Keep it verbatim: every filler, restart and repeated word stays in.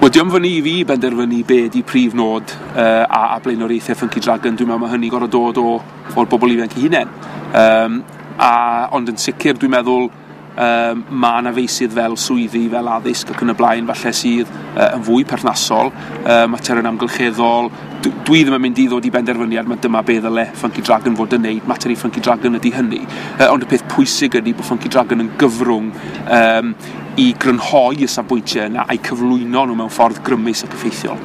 Wel, diolch fyny i fi benderfynu be di prif nod uh, a, a blaenoriaethau Funky Dragon. Dwi'n meddwl mae hynny gorfod dod o, o'r bobl ifanc eu hunain. Um, a, ond yn sicr, dwi'n meddwl um, mae yna feysydd fel swyddi, fel addysg ac yn y blaen, falle sydd uh, yn fwy perthnasol, uh, materion amgylcheddol. D dwi ddim yn mynd i ddod i benderfyniad, mae dyma be ddyle Funky Dragon fod yn neud, mater i Funky Dragon ydy hynny. Uh, ond y peth pwysig ydy bod Funky Dragon yn gyfrwng um, i grynhoi y safbwyntiau yna a'i cyflwyno nhw mewn ffordd grymus ac effeithiol.